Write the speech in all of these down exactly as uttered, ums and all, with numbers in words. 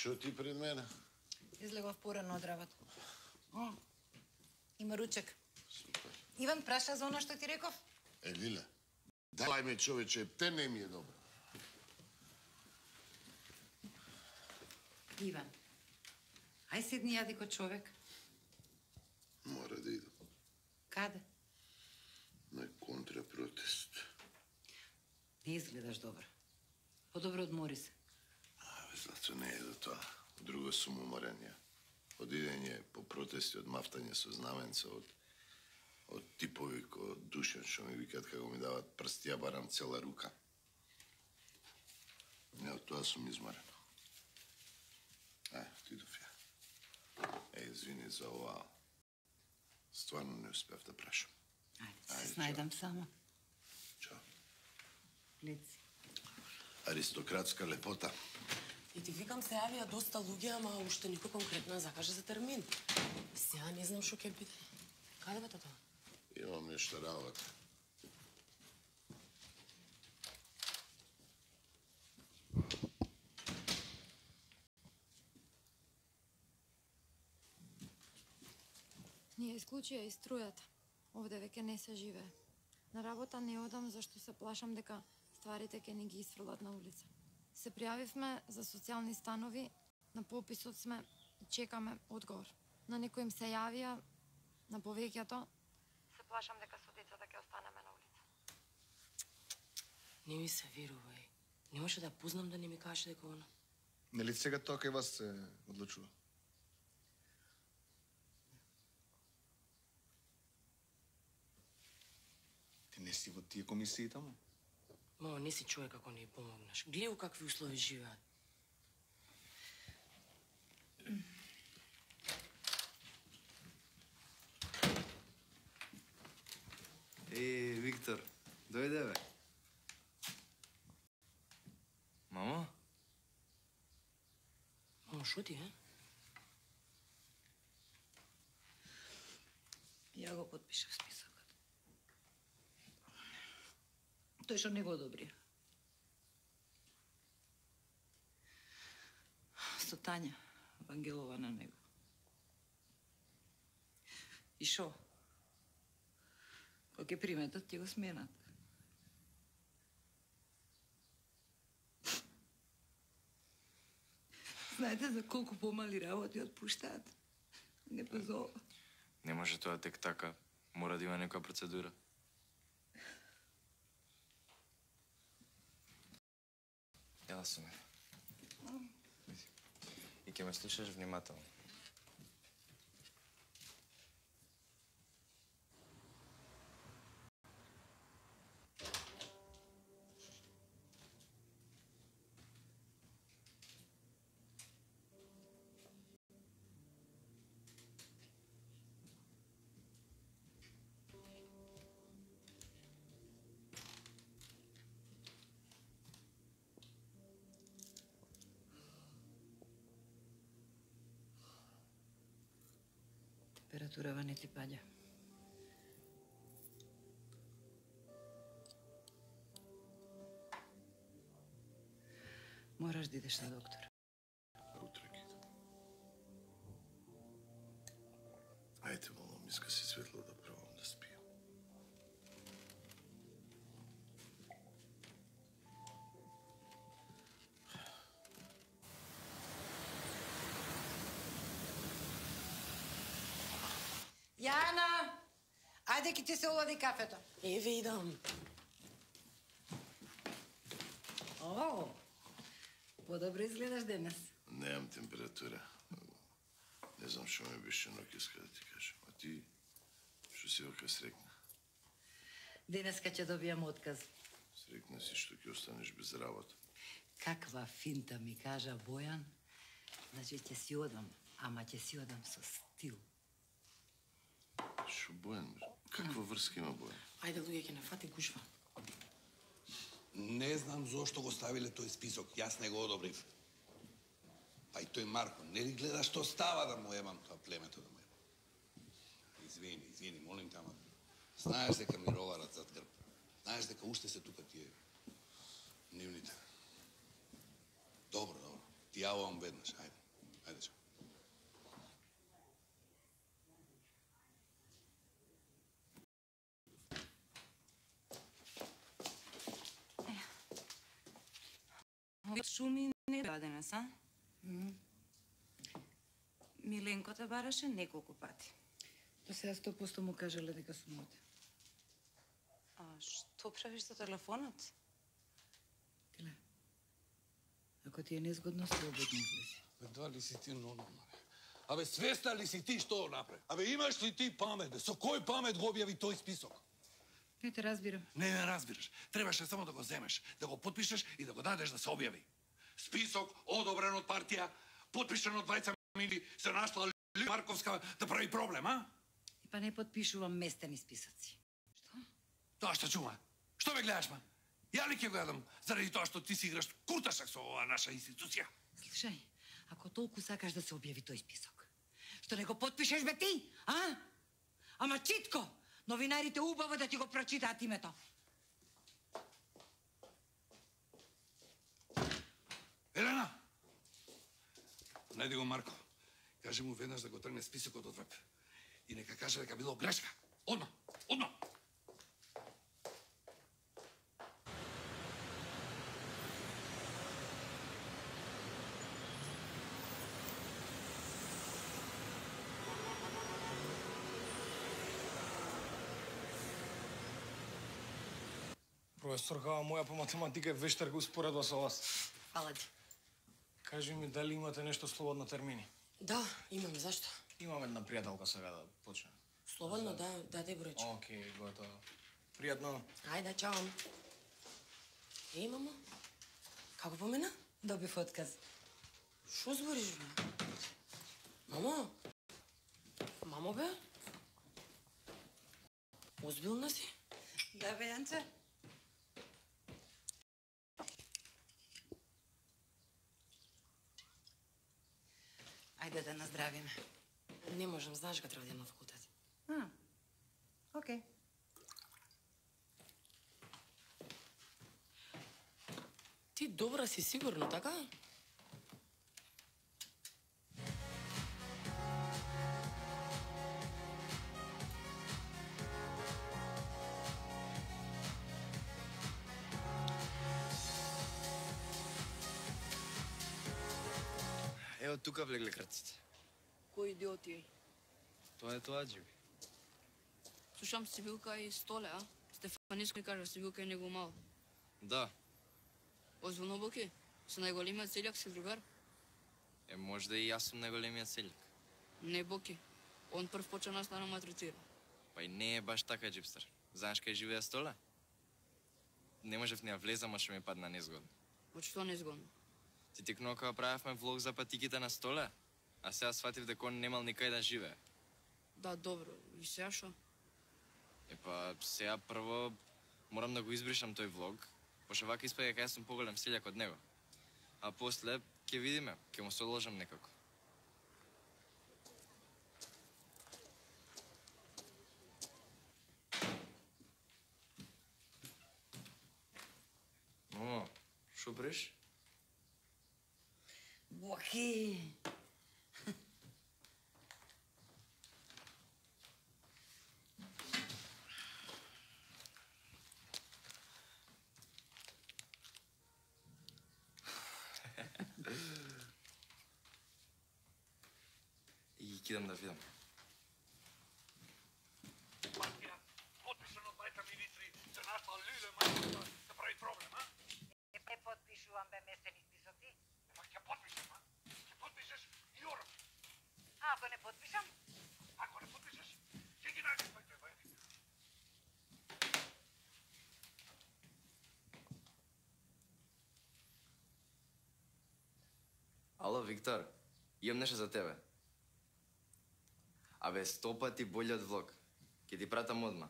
Шо ти пред мене? Излегов порано од работа. Има ручек. Супер. Иван праша за она што ти реков? Е, Лиле, далај ме, човече, те не ми е добро. Иван, ај седни јади ко човек. Мора да идам. Каде? На контрапротест. Не изгледаш добро. Подобро одмори се. Абе, Злато, не е до тоа. Друго сум уморен ја. Од идење по протести, од мафтање со знаменца, од, од типови ко Душан, што ми викат како ми дават прсти, ја барам цела рука. Не, од тоа сум изморен. Е, отидов ја. Е, извини за ова. Стварно не успев да прашам. Ајде, се снајдам само. Чао. Леци. Аристократска лепота. И ти викам, се јавија доста луѓе, ама уште никој конкретно закаже за термин. Сега не знам што ќе биде. Каде бе тоа? Имам нешто работа. Ние исклучија и струјата. Овде веќе не се живее. На работа не одам зашто се плашам дека стварите ќе ни ги исфрлат на улица. Се пријавивме за социјални станови, на пописот сме и чекаме одговор. На некој им се јавија, на повеќето. Се плашам дека со децата ќе останеме на улица. Не ми се верувај. Не може да познам да не ми каже дека она. Нели сега тоа кај вас се одлучува? Ти не си во тие комисии таму? Мамо, не си човек ако не ја помогнеш. Гледай у какви услови живеат. Е, Виктор, дојде бе. Мамо? Мамо, шо ти, е? Ја го подпишав списокот. Тој што не го одобри. Со Тања Вангелова на него. И шо? Кога ќе приметат, ќе го сменат. Знаете за колку помали работи отпуштаат? Не позова. Не може тоа тек така. Мора да има некоја процедура. Јела сум. И ќе ме слушаш внимателно. Температурава не ти паѓа. Мораш да идеш на доктор. Утре ќе идам. Ајде, молам, иска си светло да пробам да спијам. Јана! Ајде ки ти се олади кафето. Еве идам. О, подобро изгледаш денес. Немам температура. Не знам што ме беше ноќеска да ти кажам. А ти, што си вака срекна? Денеска ќе добијам отказ. Срекна си што ќе останеш без работа. Каква финта ми кажа Бојан. Значи ќе си одам, ама ќе си одам со стил. Шо Бојан? Каква врска има Бојан? Ајде, луѓе, ќе не фати гушва. Не знам зошто го ставиле тој список. Јас не го одобрив. А и тој Марко, не ли гледа што става да му емам тоа племето да му емам? Извини, извини, молим те, ама знаеш дека ми роварат зад грб. Знаеш дека уште се тука тие нивните. Добро, добро. Ти јавувам веднаш. Ајде, ајде чао. Шуми не беа денес, а? Миленко те бараше неколку пати. Па сега сто посто му кажале дека сум оде. А што правиш со телефонот? Теле, ако ти е незгодно, слободно излези. Бе, дали си ти нормална? Абе, свесна ли си ти што направи? Абе, имаш ли ти памет? Бе? Со кој памет го објави тој список? Не те разбирам. Не ме разбираш. Требаше само да го земеш, да го подпишеш и да го дадеш да се објави. Список одобрен од партија, подпишан од двајца мили, се нашла Лили Марковска да прави проблем, а? И па не подпишувам местени списоци. Што? Тоа што чума? Што ме гледаш, ма? Ја ли ќе го јадам заради тоа што ти си играш курташак со оваа наша институција? Слушај, ако толку сакаш да се објави тој список, што не го подпишеш бе ти, а? Ама читко, новинарите убаво да ти го прочитаат името. Елена! Најди го Марко. Кажи му веднаш да го тргне списокот од веб. И нека каже дека било грешка. Одма, одма! Професорка, моја по математика е вештар го споредува со вас. Фала ти. Кажи ми дали имате нешто слободно термини? Да, имам, зашто? Имам една пријателка сега да почне. Слободно, да, даде бројче. Океј, готово. Пријатно. Ајде, чао. Еј, мамо, како помена? Добив отказ. Шо збориш, бе? Мамо? Мамо, бе? Озбилна си? Да, бе, Јанче. Ајде да наздравиме. Не можам, знаеш ка треба да имам факултет. А, окей. Ти добра си сигурно, така? Ево тука влегле крците. Кој идиоти? Тоа е тоа, Джиби. Слушам Сибилка и Столе, а? Стефаниско ни кажа Сибилка е него мал. Да. Озвоно Боки, со најголемиот селјак си другар? Е, можда и јас сум најголемиот селјак. Не Боки. Он прв почна нас да нам третира. Па и не е баш така, Джипстер. Знаеш кај живее Столе? Не можев ни ја влезам, а што ми падна незгодно. Од што незгодно? Ти текнува кога правевме влог за патиките на Столе, а сега сватив дека он немал никај да живее. Да, добро. И сега шо? Е па, сега прво морам да го избришам тој влог, пошто вака испаѓа дека јас сум поголем селјак од него. А после ќе видиме, ќе му соложам некако. Мамо, шо бреш? Боки! И ги кидам да видам. Партија, подпишано од двајца министри, се нашла Лили Марковска да прави проблем, а? Не подпишувам бе местени списоци. Па ќе подпишеш, а? Ќе подпишеш и орам. А ако не подпишам? Ако не подпишеш, ќе ги најдеш твоите војни. Ало, Виктор, имам нешто за тебе. Абе, сто пати болјот влог. Ке ти пратам одма.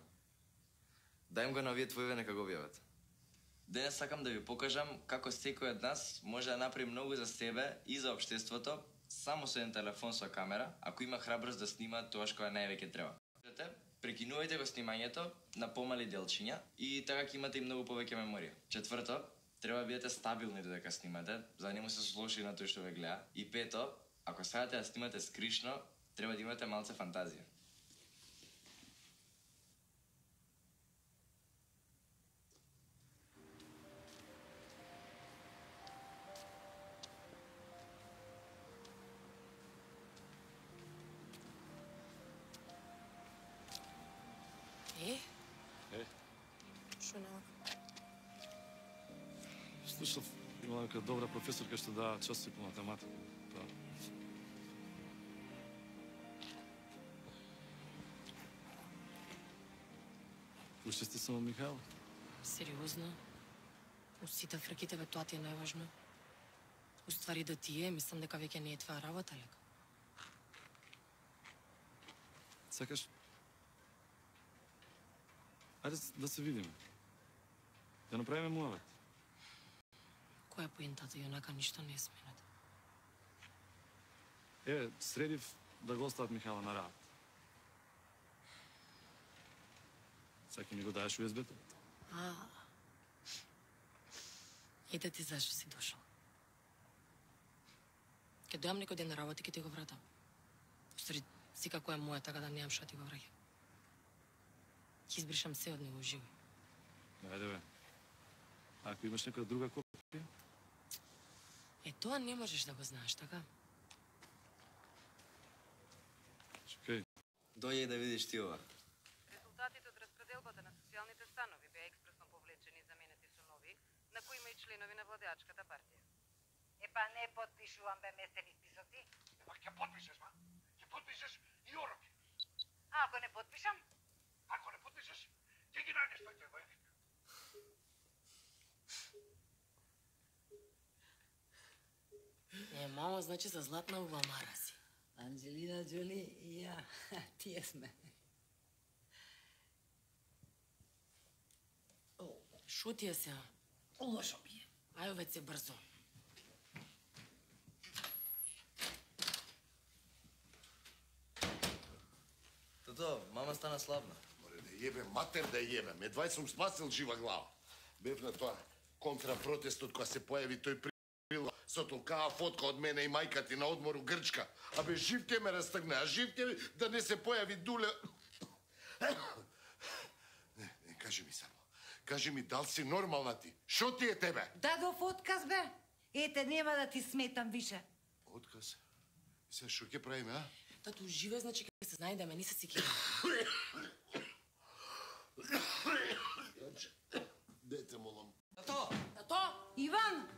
Дајм го на овие твоиве нека го објават. Денес сакам да ви покажам како секој од нас може да направи многу за себе и за општеството само со еден телефон со камера, ако има храброст да снима тоа што највеќе треба. Прекинувајте го снимањето на помали делчиња и така ќе имате и многу повеќе меморија. Четврто, треба да бидете стабилни додека снимате, за да не му се злоши на тој што ве гледа. И пето, ако сакате да снимате скришно, треба да имате малце фантазија. Е? Е? Што нема? Слушав, има нека добра професорка што дава часи по математика. Па. Уште сте само Михаил? Сериозно? У сите фрките бе тоа ти е најважно. Уствари да ти е, мислам дека веќе не е твоја работа, лека. Сакаш? Ајде да се видиме. Да направиме муавет. Која е поентата, јонака ништо не е смената. Е, средив да го остават Михаила на работа. Саки ми го даеш ю ес бе-то? А. Ете ти зашо си дошол. Ке дојам некој ден на работа и ке ти го вратам. Устари, си како е моја, така да немам што ти го враќам. Ќе избришам се од него живо. Ајде бе. Ако имаш некоја друга копија? Е, тоа не можеш да го знаеш, така? Чекај. Дојде да видиш ти ова. Резултатите од распределбата на социјалните станови беа експресно повлечени и заменети со нови, на кои има и членови на владеачката партија. Епа не подпишувам бе местени списоци. Епа ќе подпишеш, ма? Ќе подпишеш и ороки. А ако не подпишам? Ако не подпишеш, ќе ги најдеш тој војник. Е, мамо, значи за златна уба мара си. Анджелина Джоли и ја, тие сме. Шо ти е сега? Лошо ми е. Ајо веќе брзо. Тото, мама стана слабна. Море да јебе, матер да јебе. Медвај сум спасил жива глава. Бев на тоа контрапротестот кога се појави тој прил со толкава фотка од мене и мајка ти на одмор у Грчка. А бе жив ќе ме растагне, а жив ќе да не се појави Дуле. Не, не, кажи ми само. Кажи ми, дал си нормална ти? Шо ти е тебе? Дадов отказ, бе. Ете, нема да ти сметам више. Отказ? Се, шо ќе правиме, а? Тату, живе, значи ќе се знајдеме, не се си кири. Дете, молам. Тато! Тато! Иван!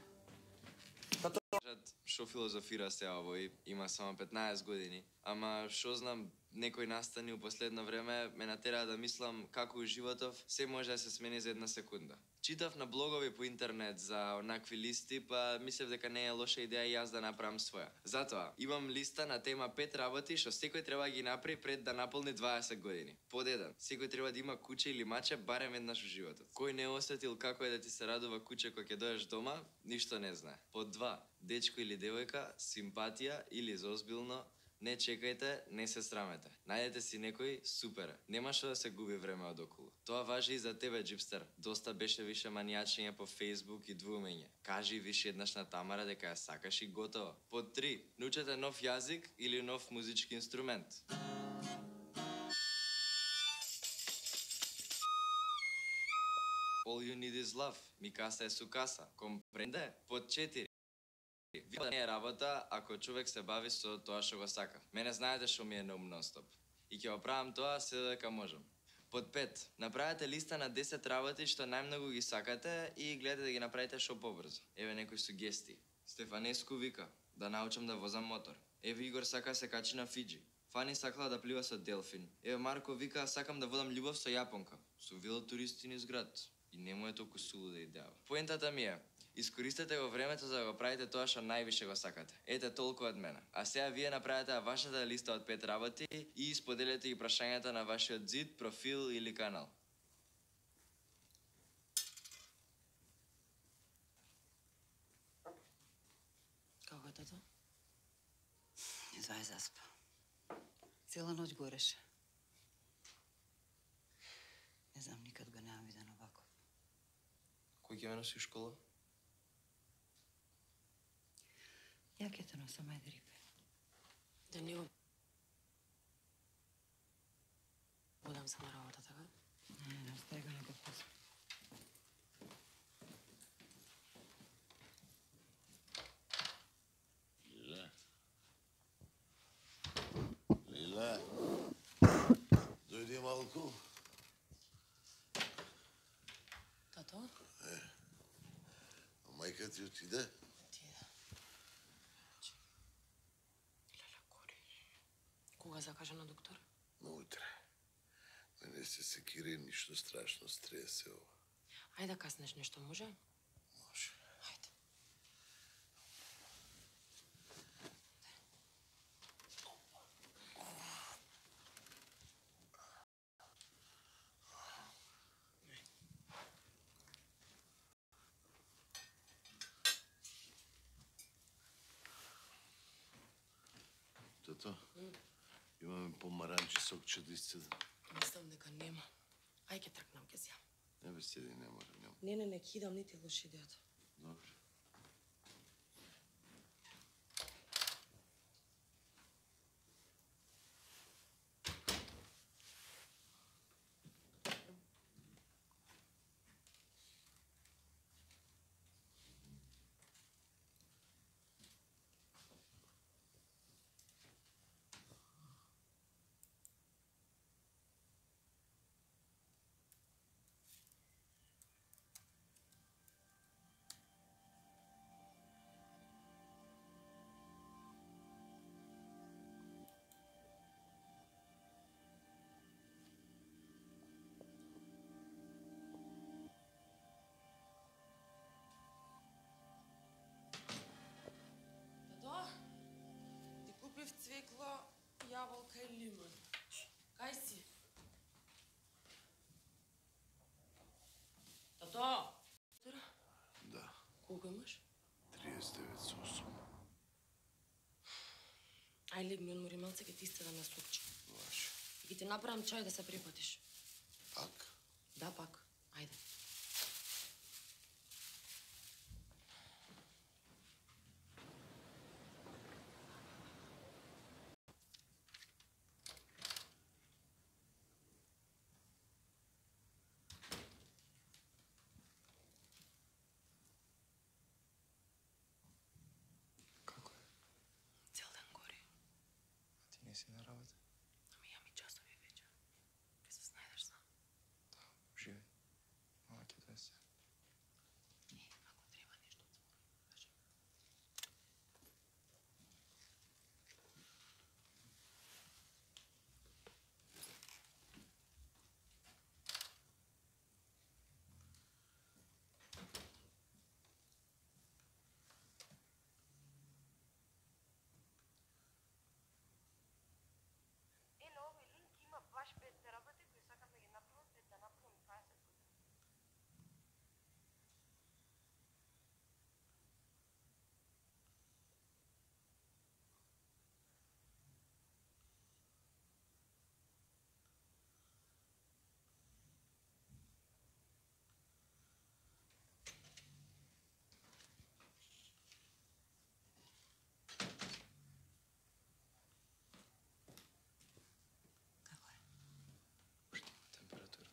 Кажат, шо филозофира се овој, има само петнаесет години, ама шо знам, некои настани у последно време ме натера да мислам како у животов се може да се смени за една секунда. Читав на блогови по интернет за онакви листи, па мислев дека не е лоша идеја и јас да направам своја. Затоа, имам листа на тема пет работи што секој треба да ги направи пред да наполни дваесет години. Под еден, секој треба да има куче или маче барем еднаш у животот. Кој не осетил како е да ти се радува куче кога ќе дојдеш дома, ништо не знае. Под два, дечко или девојка, симпатија или зозбилно, не чекајте, не се срамете. Најдете си некој, супер. Нема што да се губи време од околу. Тоа важи и за тебе, джипстер. Доста беше више манијачење по Facebook и двумење. Кажи више еднаш на Тамара дека ја сакаш и готово. Под три, научете нов јазик или нов музички инструмент. All you need is love. Mi casa е su casa. Компренде? Под четири. Вие не е работа ако човек се бави со тоа што го сака. Мене знаете што ми е на ум нон-стоп. И ќе го правам тоа се додека можам. Под пет, направете листа на десет работи што најмногу ги сакате и гледате да ги направите што побрзо. Еве некои сугестии. Стефанеску вика да научам да возам мотор. Еве Игор сака се качи на Фиджи. Фани сакала да плива со делфин. Еве Марко вика сакам да водам љубов со јапонка. Со велотуристи низ град. И не му е толку сулуда идеја. Поентата ми е, искористете го времето за да го правите тоа што највише го сакате. Ете толку од мене. А сега вие направете вашата листа од пет работи и споделете ги прашањата на вашиот зид, профил или канал. Како тато? Едва е заспа. Цела ноќ гореше. Не знам, никад го немам виден овако. Кој ќе ме носи у школа? Ја ќе те носам, ајде, Рипе. Да не го... Одам се на работа, така? Не, не, остави го некој после. Лиле. Лиле. Дојди малку. Тато? Е. А мајка ти отиде? Кога закажа на доктор? На утре. Да не се секири, ништо страшно стресе ова. Ајде да каснеш нешто, може? Може. Ајде. Тато, имаме помаранчи сокче да исцедам. Мислам дека нема. Ај ќе тркнам, ќе зјам. Не бе, седи, не мора, нема. Не, не, не, кидам, не ти лоши идејата. Добре. Тато, ти купив цвекло, јаболка и лимон. Кај си? Тато! Да, Колку имаш? триесет девет со осум. Ај легни, одмори малце, ќе ти истедам на супче. Ваше. И ќе ти направам чај да се припатиш. Пак? Да, пак. Ајде. Како е? Цел ден гори. А ти не си на работа? Ами ја ми часови вечер. Ке се снајдеш сам. Да, живеј. Мама ќе донесе. Е, ако треба нешто од збор, кажи. Е, на овој линк има баш пет работи кои сакам да ги направам пред да напунам дваесет години. Како е? Температура.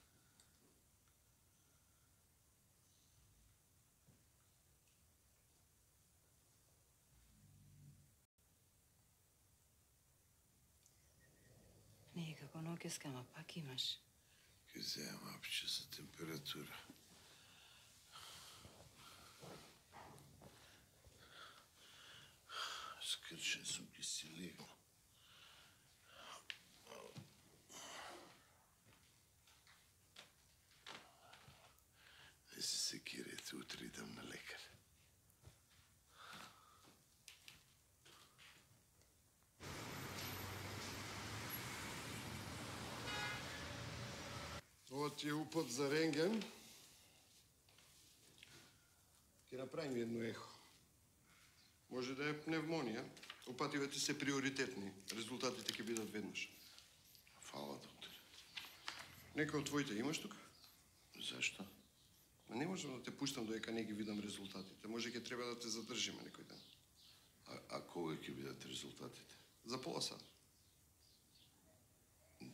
Не е како ноќеска, ама пак имаш. Ке земам апче за температура. Скрчен сум, ке си легнам. Не се секирайте, утре идам на лекар. Ова ти е упот за рентген. Ќе направим едно ехо. Може да е пневмонија. Упативите се приоритетни. Резултатите ќе бидат веднаш. Фала, доктор. Некој од твоите имаш тука? Зашто? Ма не можам да те пуштам додека не ги видам резултатите. Може ќе треба да те задржиме некој ден. А, а Кога ќе бидат резултатите? За пола сат.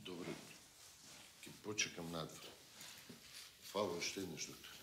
Добре, ќе почекам надвор. Фала уште еднаш, доктор.